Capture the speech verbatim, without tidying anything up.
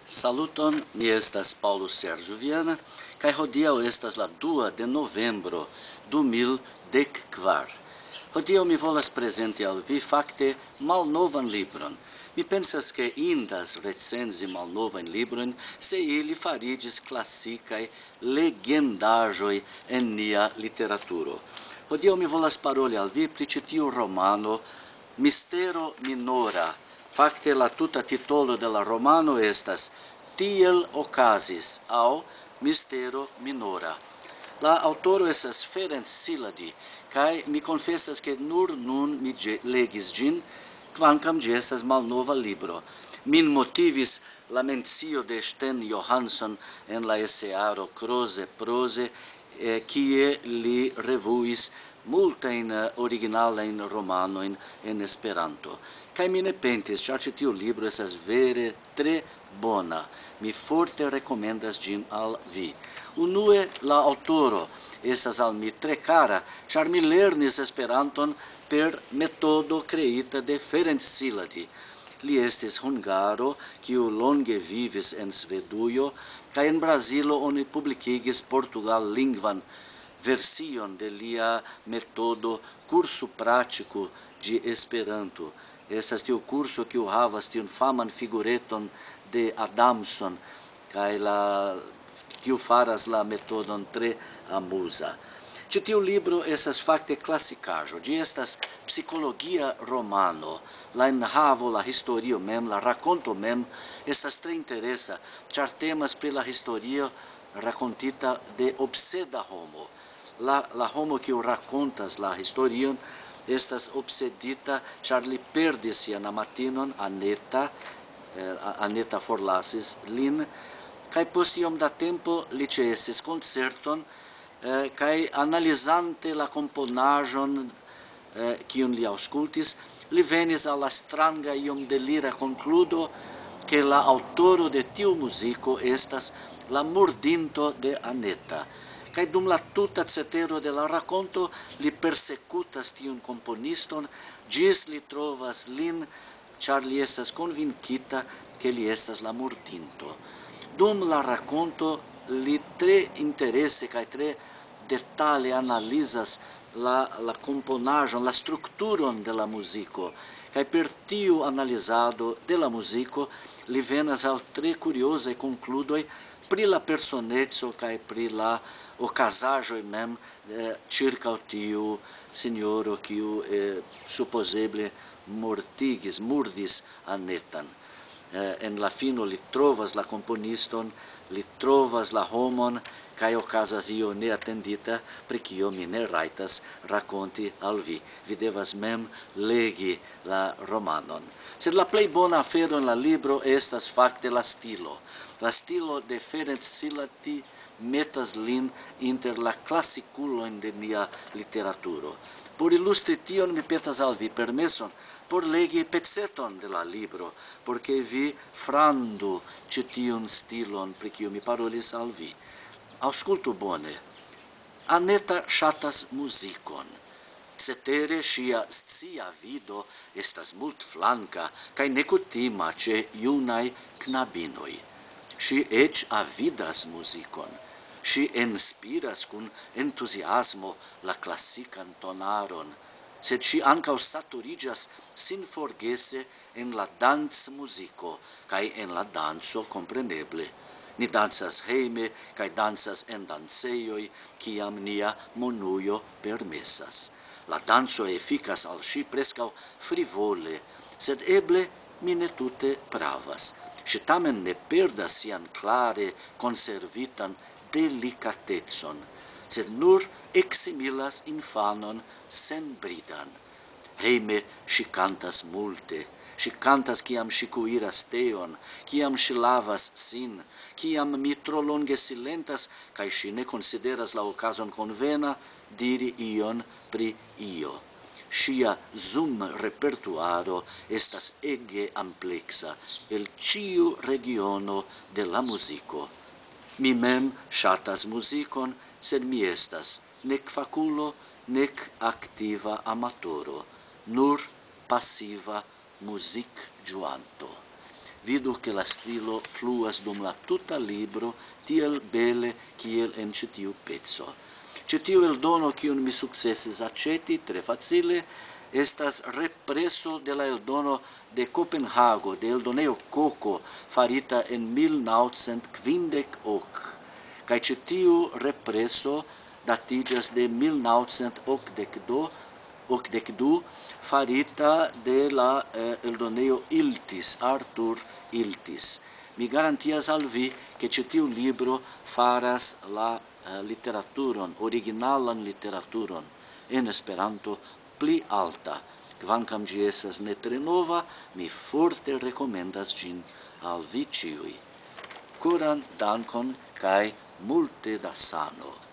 Saluton, mi estas Paulo Sergio Viana, kaj hodiaŭ estas la dua de novembro du mil dek kvar. Hodiaŭ mi volas prezenti al vi fakte malnovan libron. Mi pensas, ke indas recenzi malnovajn librojn, se ili fariĝis klasikaj legendaĵoj en nia literaturo. Hodiaŭ mi volas paroli al vi pri ĉi tiu romano, Mistero Minora. Fakte la tuta titolo de la romano estas Tiel okazis aŭ Mistero Minora. La aŭtoro estas Ferenc Siladi, kaj mi konfesas, ke nur nun mi ĝe-, legis ĝin, kvankam ĝi estas malnova libro. Min motivis la mencio de Sten Johansson en la esearo Kroze Proze, eh, kie li revuis multajn, eh, originalajn romanojn en Esperanto. Kaj mi ne pentis, ĉar ĉi tiu libro estas vere tre bona. Mi forte rekomendas ĝin al vi. Unue, la aŭtoro estas al mi tre kara, ĉar mi lernis Esperanton per metodo kreita de Ferenc Siladi. Li estis hungaro, kiu longe vivis en Svedujo, kaj en Brazilo oni publikigis portugallingvan version de lia metodo, kurso prático de Esperanto. Estas tiu kurso, kiu havas tiun faman figureton de Adamson, kaj la, kiu faras la metodon tre amuza. Ĉi tiu libro estas fakte klasikaĵo. Ĝi estas psikologia romano. La enhavo, la historio mem, la rakonto mem estas tre interesa, ĉar temas pri la historio rakontita de obseda homo. La, la homo, kiu rakontas la historion, estas obsedita, ĉar li perdis sian amatinon, Aneta, eh, A-, Aneta forlasis lin, kaj post iom da tempo li ĉesis koncerton, eh, kaj analizante la komponaĵon, eh, kiun li aŭskultis, li venis al la stranga, iom delira konkludo, ke la aŭtoro de tiu muziko estas la murdinto de Aneta. Kaj dum la tuta cetero de la rakonto li persekutas tiun komponiston, ĝis li trovas lin, ĉar li estas konvinkita, ke li estas la murdinto. Dum la rakonto li tre interese kaj tre detale analizas la, la komponaĵon, la strukturon de la muziko, kaj per tiu analizado de la muziko li venas al tre kuriozaj konkludoj pri la personeco kaj pri la okazaĵoj mem, eh, ĉirkaŭ tiu sinjoro, kiu, eh, supozeble mortigis, murdis Anetan. Eh, en la fino li trovas la komponiston, li trovas la homon, kaj okazas io neatendita, pri kio mi ne rajtas rakonti al vi. Vi devas mem legi la romanon. Sed la plej bona afero en la libro estas fakte la stilo. La stilo de Ferenc Silati metas lin inter la klasikulojn de nia literaturo. Por ilustri tion, mi petas al vi permeson por legi peceton de la libro, por ke vi frandu ĉi tiun stilon, pri kiu mi parolis al vi. Aŭskultu bone. Aneta ŝatas muzikon. Cetere ŝia scia vido estas multflanka kaj nekutima ĉe junaj knabinoj. Ŝi eĉ avidas muzikon. Ŝi enspiras kun entuziasmo la klasikan tonaron, sed ŝi ankaŭ saturiĝas sinforgese en la dancmuziko kaj en la danco, kompreneble. Ni dancas hejme kaj dancas en dancejoj, kiam nia monujo permesas. La danco efikas al ŝi preskaŭ frivole, sed eble mi ne tute pravas. Ŝi tamen ne perdas sian klare konservitan delikatecon, sed nur eksimilas infanon senbridan. Hejme ŝi kantas multe. Ŝi kantas, kiam ŝi kuiras teon, kiam ŝi lavas sin, kiam mi tro longe silentas, kaj ŝi ne konsideras la okazon konvena diri ion pri io. Ŝia zum-repertuaro estas ege ampleksa el ĉiu regiono de la muziko. Mi mem ŝatas muzikon, sed mi estas nek fakulo, nek aktiva amatoro, nur pasiva muzikĝuanto. Vidu, ke la stilo fluas dum la tuta libro tiel bele kiel en ĉi tiu peco. Ĉi tiu eldono, kiun mi sukcesis aĉeti tre facile, estas represo de la eldono de Kopenhago, de eldonejo Koko, farita en mil naŭcent kvindek ok. Kaj ĉi tiu represo datiĝas de mil naŭcent okdek du, okdek du, farita de la eh, eldonejo Iltis, Artur Iltis. Mi garantias al vi, ke ĉi tiu libro faras la eh, literaturon, originalan literaturon en Esperanto pli alta. Kvankam ĝi estas ne tre nova, mi forte rekomendas ĝin al vi ĉiuj. Koran dankon kaj multe da sano.